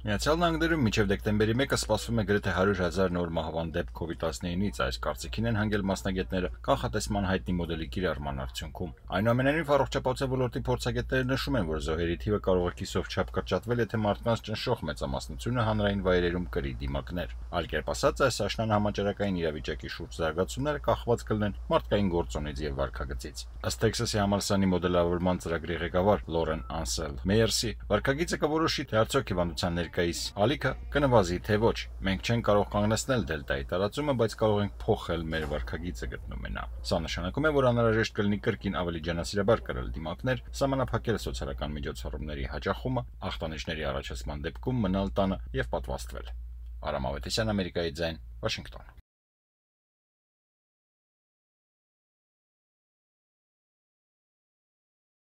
Միացյալ Նահանգներում մինչև դեկտեմբերի 1-ը սպասվում է գրեթե 100,000 նոր մահվան դեպք COVID-19-ից, այս կարծիքին են հանգել մասնագետները կանխատեսման հայտնի մոդելի կիրառման արդյունքում։ Այնուամենայնիվ, առողջապահության ոլորտի փորձագետները նշում են, որ զոհերի թիվը կարող է կիսով չափ կրճատվել, եթե մարդկանց ճնշող մեծամասնությունը հանրային վայրերում կրի դիմակներ։ Այլ կերպ ասած, այս աշնան համաճարակային իրավիճակի շուրջ զարգացումները կախված կլինեն մարդկային գործոնից եւ վարքագծից։ Ըստ Տեքսասի համալսարանի մոդելավորման ծրագրի ղեկավար Լորեն Անսել Մեյերսի, վարքագիծը կորոշի, թե արդյոք հիվանդության ներկայիս ալիքը կնվազի թե ոչ։ Մենք չենք կարող կանգնեցնել դելտայի տարածումը, բայց կարող ենք փոխել մեր վարքագիծը, գտնում է նա։ Սա նշանակում է, որ անհրաժեշտ կլինի կրկին ավելի ջանասիրաբար կրել դիմակներ, սահմանափակել սոցիալական միջոցառումների հաճախումը, ախտանիշների առաջացման դեպքում մնալ տանը եւ պատվաստվել։ Արամ Ավետիսյան, Ամերիկայի ձայն, Վաշինգտոն։